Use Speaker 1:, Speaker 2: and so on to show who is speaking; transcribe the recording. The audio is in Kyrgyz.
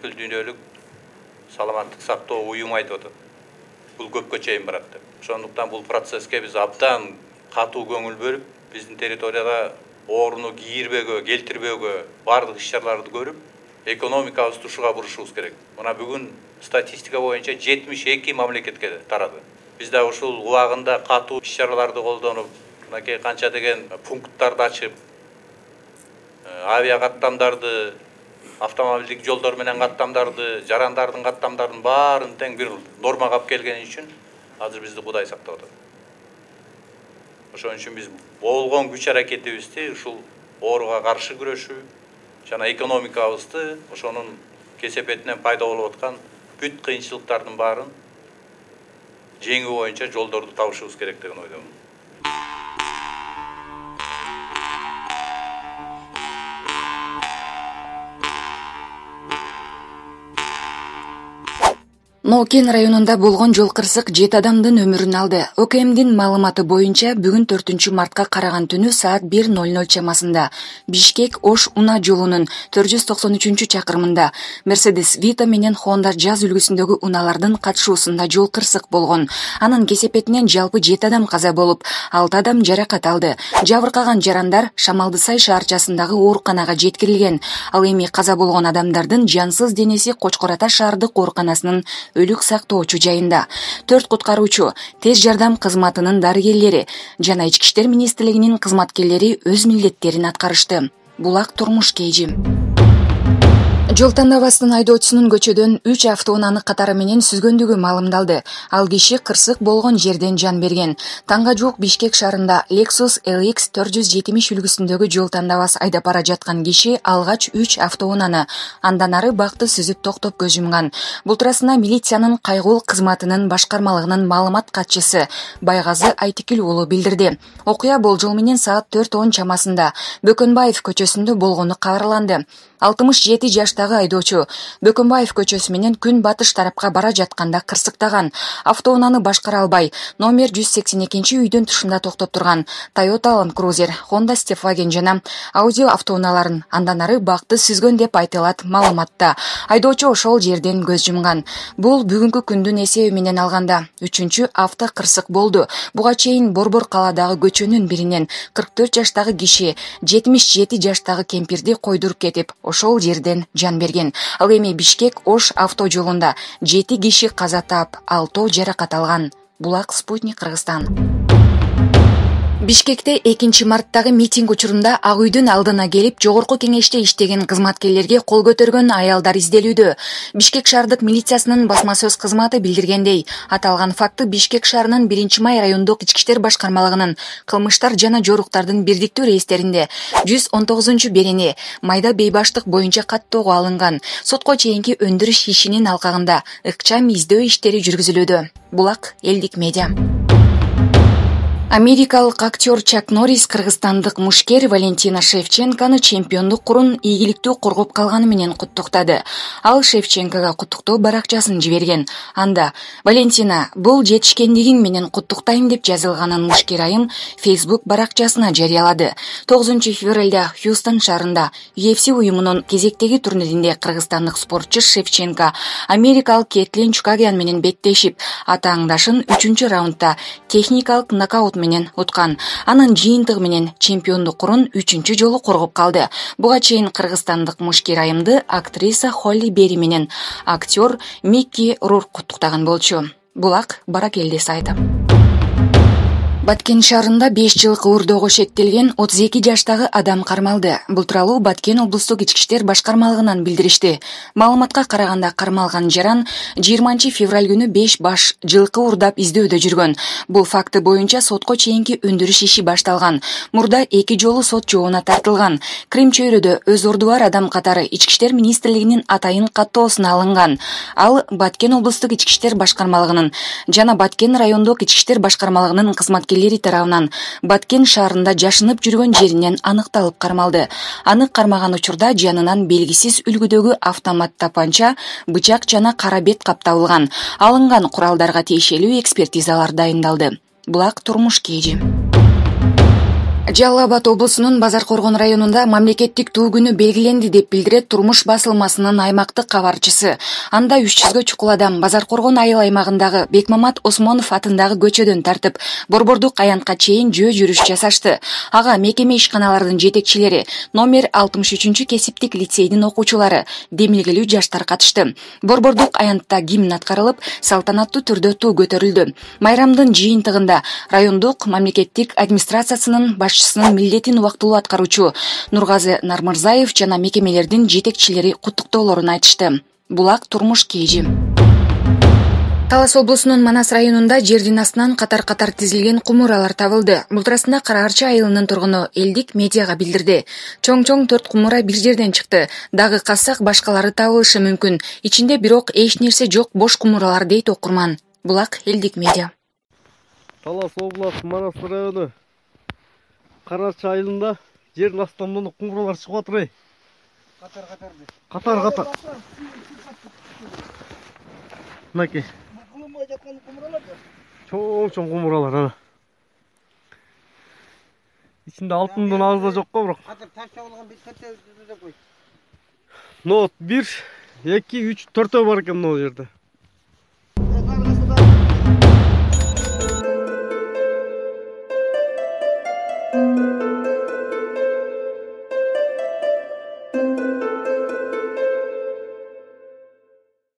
Speaker 1: бүткүл дүйнөлүк саламаттык сактоо уюму айтып атат. Бул көпкө чейин барат деп. Ошондуктан бул процесске биз абдан катуу көңүл бөлүп, биздин территорияга ооруну кийирбөөгө, келтирбөөгө бардык иш-чараларды көрүп, экономикабызды ушуга бурушубуз керек. Мына бүгүн статистика боюнча 72 мамлекетке тарады. Биз да ушул убагында катуу иш-чараларды колдонуп, мынакей канча деген пункттарды ачып, авиа каттамдарды, автомобилдик жолдор менен каттамдарды, жарандардын каттамдарын баарын тең бир нормага алып келген үчүн азыр бизди Кудай сактап атат. Ошон үчүн биз болгон күч аракетибизди ушул ооруга каршы күрөшүү жана экономикабызды ошонун кесепетинен пайда болуп аткан бүт кыйынчылыктардын баарын жеңүү боюнча жолдорду табышыбыз керек деген ойдомун.
Speaker 2: Нокен районунда болгон жол кырсык 7 адамдын өмүрүн алды. ОКМдин маалыматы боюнча бүгүн 4-мартка караган түнү саат 1:00 чамасында Бишкек-Ош Уна жолунун 493-чакырымында Mercedes Vito менен Honda Jazz үлгүсүндөгү уналардын катышуусунда жол кырсык болгон. Анын кесепетинен жалпы 7 адам каза болуп, 6 адам жаракат алды. Жабыркаган жарандар Шамалдысай шаарчасындагы ооруканага жеткирилген. Ал эми каза болгон адамдардын жансыз денеси Кочкор Ата шаардык ооруканасынын өлүк сактоочу жайында. 4 куткаруучу, тез жардам кызматынын дарыгерлери жана Ички иштер министрлигинин кызматкерлери өз милдеттерин аткарышты. Булак турмуш кейжи. Жол тандабастын айдоочусунун көчөдөн 3 автоунааны катары менен сүзгөндүгү маалымдалды. Ал киши кырсык болгон жерден жан берген. Таңга жуук Бишкек шаарында Lexus LX 470 үлгүсүндөгү жол тандабас айдап бара жаткан киши алгач 3 автоунааны андан ары бакты сүзүп токтоп көз жумган. Бул туурасында милициянын кайгыл кызматынын башкармалыгынын маалымат катчысы Байгазы Айтикил уулу билдирди. Окуя болжол менен саат 4:10 чамасында Бөкөнбаев көчөсүндө болгону кабарланды. 67 жаштагы айдоочу Бөкөнбаев көчөсү менен күн батыш тарапка бара жатканда кырсыктаган. Автоунааны башкара албай, номер 182 үйдүн тушунда токтоп турган Toyota Land Cruiser, Honda Stepwagon жана Audi автоунааларын андан ары бакты сүзгөн деп айтылат маалыматта. Айдоочу ошол жерден көз жумган. Бул бүгүнкү күндүн эсеби менен алганда 3-чү авто кырсык болду. Буга чейин Борбор калаадагы көчөнүн биринен 44 жаштагы киши 77 жаштагы кемпирди койдуруп кетип, ошол жерден жан берген. Ал эми Бишкек-Ош авто жолунда 7 киши каза таап, 6 жаракат алган. Булак, Спутник, Кыргызстан. Бишкекте 2-марттагы митинг учурунда Ак үйдүн алдына келип, жогорку кеңеште иштеген кызматкерлерге кол көтөргөн аялдар изделүүдө. Бишкек шаардык милициясынын басма сөз кызматы билдиргендей, аталган факты Бишкек шаарынын 1-май райондук ички иштер башкармалыгынын кылмыштар жана жоруктардын бирдиктүү рейстеринде 119-берени майда бейбаштык боюнча каттоого алынган. Сотко чейинки өндүрүш ишинин алкагында ыкчам издөө иштери жүргүзүлүүдө. Булак, Элдик медиа. Америкалык актер Чак Норрис кыргызстандык мушкер Валентина Шевченкону чемпиондук курун ийгиликтүү коргоп калганы менен куттуктады. Ал Шевченкого куттуктоо баракчасын жиберген. Анда Валентина, бул жетишкендигиң менен куттуктайм деп жазылганын мушкер айым Facebook баракчасына жарыялады. 9-февралда Хьюстон шаарында UFC уюмунун кезектеги турниринде кыргызстандык спортчу Шевченко америкалык Кетлин Чукагян менен беттешип, атааңдашын 3-раундда техникалык нокаут менен уткан. Анын жыйынтыгы менен чемпиондук курун 3-чү жолу коргоп калды. Буга чейин кыргызстандык мушкер айымды актриса Холли Бери менен актер Микки Рурк куттуктаган болчу. Булак, Баракелди сайты. Баткен шаарында 5 жылкы урдоого шектелген 32 жаштагы адам кармалды. Бул тууралуу Баткен облустук ички иштер башкармалыгынан билдиришти. Маалыматка караганда кармалган жаран 20-февраль күнү 5 баш жылкы урдап издөөдө жүргөн. Бул факты боюнча сотко чейинки өндүрүш иши башталган. Мурда 2 жолу сот жообуна тартылган. Крим чөйрөдө өз орду бар адам катары ички иштер министрлигинин атайын каттоосуна алынган. Ал Баткен облустук ички иштер башкармалыгынын жана Баткен райондук ички иштер башкармалыгынын кызматкерлери тарабынан Баткен шаарында жашынып жүргөн жеринен аныкталып кармалды. Аны кармаган учурда жанынан белгисиз үлгүдөгү автомат тапанча, бычак жана кара бет кап табылган. Алынган куралдарга тиешелүү экспертизалар дайындалды. Булак, турмуш кейжи. Жалал Абад облусунун Базаркоргон районунда мамлекеттик туу күнү белгиленди деп билдирет Турмуш басылмасынын аймактык кабарчысы. Анда 300гө чукул адам Базаркоргон айыл аймагындагы Бекмамат Осмонов атындагы көчөдөн тартып, Борбордук аянтка чейин жөө жүрүш жасашты. Ага мекеме ишканалардын жетекчилери, номер 63 кесиптик лицейдин окуучулары, демилгелүү жаштар катышты. Борбордук аянтта гимн аткарылып, салтанаттуу түрдө туу көтөрүлдү. Майрамдын жыйынтыгында райондук мамлекеттик администрациясынын башчысынын милдетин убактылуу аткаруучу Нургазы Нармырзаев жана мекемелердин жетекчилери куттуктоолорун айтышты. Булак турмуш кежи. Талас облусунун Манас районунда жердин астынан катар-катар тизилген кумуралар табылды. Мултурасында Караарчы айылынын тургуну элдик медиага билдирди. Чоң-чоң 4 кумура бир жерден чыкты. Дагы казсак башкалары табылышы мүмкүн. Ичинде бирок эч нерсе жок бош кумуралар дейт окурман. Булак элдик медиа.
Speaker 3: Талас областы Манас району Караарчы айылында жердин астынан кумуралар чыгып атыр. Катар. Мынакей. Чоң кумуралар ана. Ичинде алтындын азы жок го, бирок. Катар таш чабылган бир төртөө деп кой. Нот 1, 2, 3, 4 бар экен могу жерде.